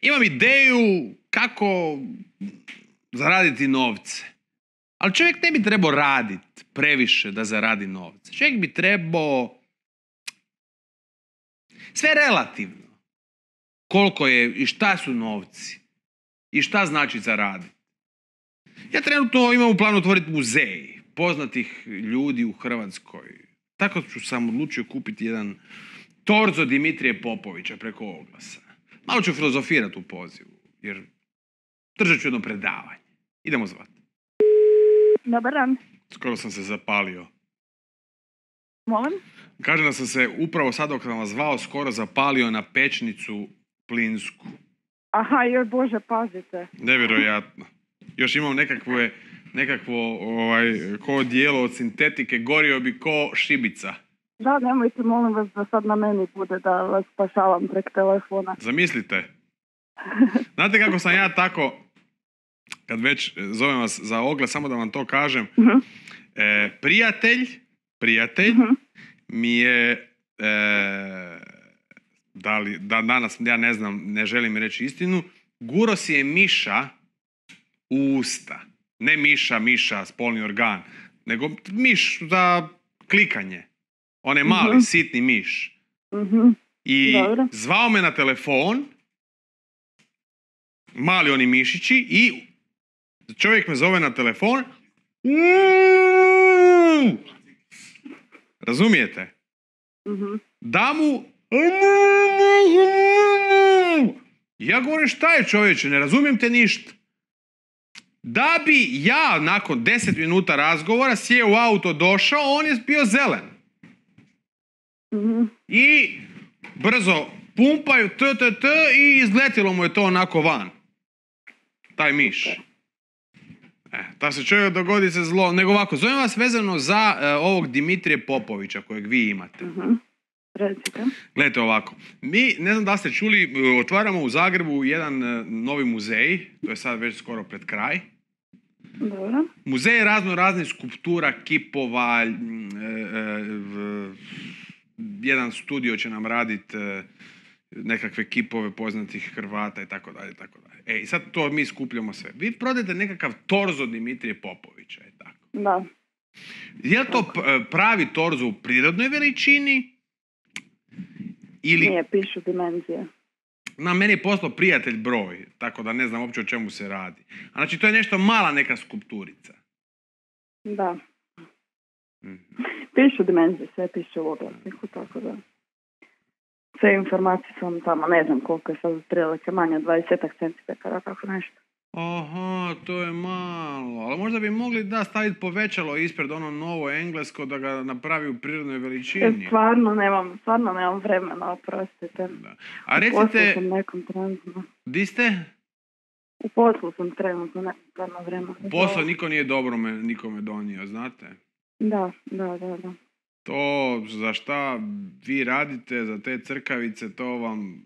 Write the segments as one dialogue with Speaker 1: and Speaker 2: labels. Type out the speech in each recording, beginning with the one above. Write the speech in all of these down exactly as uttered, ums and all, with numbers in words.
Speaker 1: imam ideju kako zaraditi novce. Ali čovjek ne bi trebao raditi previše da zaradi novce. Čovjek bi trebao sve relativno. Koliko je i šta su novci. I šta znači zaraditi. Ja trenutno imam u planu otvoriti muzej poznatih ljudi u Hrvatskoj. Tako ću sam odlučio kupiti jedan torzo Dimitrije Popovića preko oglasa. Malo ću filozofirati u pozivu, jer držat ću jedno predavanje. Idemo zvati.
Speaker 2: Dobar dan.
Speaker 1: Skoro sam se zapalio.
Speaker 2: Molim?
Speaker 1: Kažem da sam se upravo sad dok sam vas zvao skoro zapalio na pečnicu plinsku.
Speaker 2: Aha, joj Bože, pazite.
Speaker 1: Nevjerojatno. Još imam nekakve, nekakvo ovaj, ko dijelo od sintetike, gorio bi ko šibica.
Speaker 2: Da, nemojte, molim vas, da sad na meni bude da vas spašavam prek telefona.
Speaker 1: Zamislite. Znate kako sam ja tako, kad već zovem vas za oglas, samo da vam to kažem,
Speaker 2: Uh-huh.
Speaker 1: e, prijatelj, prijatelj
Speaker 2: Uh-huh.
Speaker 1: mi je, e, da li, da danas, ja ne znam, ne želim reći istinu, guro si je miša u usta. Ne miša, miša, spolni organ, nego miš za klikanje. On je mali,
Speaker 2: Uh-huh.
Speaker 1: sitni miš.
Speaker 2: Uh-huh.
Speaker 1: I
Speaker 2: Dobro.
Speaker 1: zvao me na telefon, mali oni mišići, i čovjek me zove na telefon. Razumijete?
Speaker 2: Uh-huh.
Speaker 1: Da mu... Ja govorim, šta je čovječe, ne razumijem te ništa. Da bi ja nakon deset minuta razgovora sjeo u auto, došao, on je bio zelen.
Speaker 2: Uh-huh.
Speaker 1: I brzo pumpaju t, t, t i izletilo mu je to onako van. Taj miš. E, ta se čovjek dogodi se zlo. Nego ovako, zovem vas vezano za e, ovog Dimitrije Popovića kojeg vi imate.
Speaker 2: Uh-huh. Recite.
Speaker 1: Gledajte ovako, mi, ne znam da ste čuli, e, otvaramo u Zagrebu jedan e, novi muzej, to je sad već skoro pred kraj.
Speaker 2: Dobro.
Speaker 1: Muzej razno raznih skulptura, kipova, e, e, v, jedan studio će nam raditi e, nekakve kipove poznatih Hrvata i tako dalje, tako dalje. E, i sad to mi skupljamo sve. Vi prodajete nekakav torzo Dimitrije Popovića, je tako?
Speaker 2: Da.
Speaker 1: Je li to p- pravi torzo u prirodnoj veličini? Ili,
Speaker 2: Nije, pišu dimenzije.
Speaker 1: na meni je poslao prijatelj broj, tako da ne znam uopće o čemu se radi. A znači to je nešto mala neka skulpturica.
Speaker 2: Da.
Speaker 1: Mhm.
Speaker 2: Pišu dimenzije, sve piše u oglasniku, tako da... Sve informacije sam tamo, ne znam koliko je sad otprilike manje od dvadeset centimetara, tako nešto.
Speaker 1: Aha, to je malo. Ali možda bi mogli da staviti povećalo ispred ono novo englesko da ga napravi u prirodnoj
Speaker 2: E,
Speaker 1: veličini.
Speaker 2: stvarno nemam, stvarno nemam vremena, oprostite.
Speaker 1: Da. A
Speaker 2: U poslu
Speaker 1: recite,
Speaker 2: sam nekom trenutno.
Speaker 1: di ste?
Speaker 2: U poslu sam trenutno, nemam stvarno vremena.
Speaker 1: Posao niko nije dobro me, nikome donio, znate?
Speaker 2: Da, da, da, da.
Speaker 1: To za šta vi radite, za te crkavice, to vam...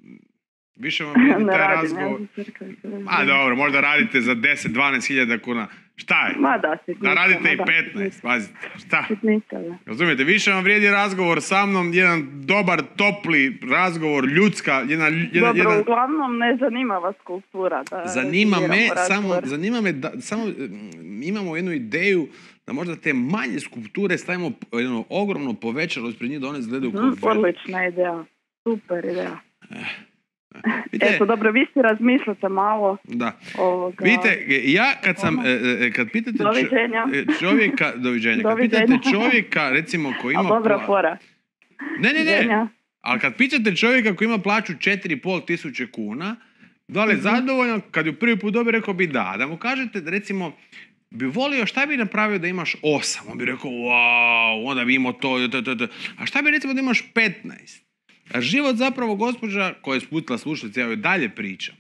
Speaker 1: Više vam vrijedi
Speaker 2: Ne
Speaker 1: taj
Speaker 2: radim, ja
Speaker 1: razgovor.
Speaker 2: za crkavice.
Speaker 1: A dobro, možda radite za deset do dvanaest hiljada kuna. Šta je?
Speaker 2: Ma da, sitnica.
Speaker 1: Da radite
Speaker 2: ma
Speaker 1: i
Speaker 2: da,
Speaker 1: petnaest, pazite. Šta?
Speaker 2: Sitnica, da.
Speaker 1: Razumijete, više vam vrijedi razgovor sa mnom, jedan dobar, topli razgovor, ljudska, jedna... jedna,
Speaker 2: Dobro,
Speaker 1: jedan...
Speaker 2: uglavnom ne zanima vas kultura. Da
Speaker 1: Zanima me,
Speaker 2: rezerviramo
Speaker 1: samo,
Speaker 2: razgovor.
Speaker 1: zanima me da, samo mm, imamo jednu ideju da možda te manje skulpture stavimo jedno ogromno povećalo ispred njih da one izgledaju kao
Speaker 2: Mhm,
Speaker 1: velike.
Speaker 2: odlična ideja. Super ideja.
Speaker 1: Vidite,
Speaker 2: Eto, dobro, vi si razmišljate malo
Speaker 1: da.
Speaker 2: ovoga...
Speaker 1: Vidite, ja kad sam, e, e, kad pitate čo-
Speaker 2: Doviđenja.
Speaker 1: e, čovjeka, doviđenja, kad
Speaker 2: Doviđenja.
Speaker 1: pitate čovjeka, recimo, koji ima...
Speaker 2: A dobra
Speaker 1: pla-
Speaker 2: fora.
Speaker 1: Ne, ne, ne,
Speaker 2: Doviđenja.
Speaker 1: ali kad pitate čovjeka koji ima plaću četiri i pol tisuće kuna, da li je
Speaker 2: Mhm.
Speaker 1: zadovoljan, kad ju prvi put dobije, rekao bi da. Da mu kažete, da recimo, bi volio, šta bi napravio da imaš osam? On bi rekao, wow, onda bi imao to, to, to, to. A šta bi recimo da imaš petnaest? A život zapravo, gospođa koja je sputila slušalice, ja joj dalje pričam,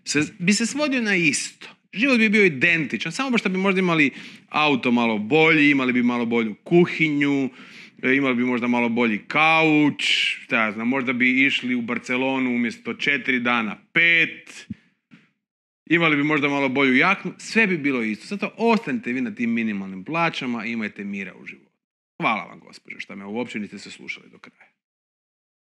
Speaker 1: se, bi se svodio na isto. Život bi bio identičan, samo baš da bi možda imali auto malo bolji, imali bi malo bolju kuhinju, e, imali bi možda malo bolji kauč, šta ja znam, možda bi išli u Barcelonu umjesto četiri dana pet, imali bi možda malo bolju jaknu, sve bi bilo isto. Zato ostanite vi na tim minimalnim plaćama i imajte mira u životu. Hvala vam, gospođo, što me uopće niste se slušali do kraja.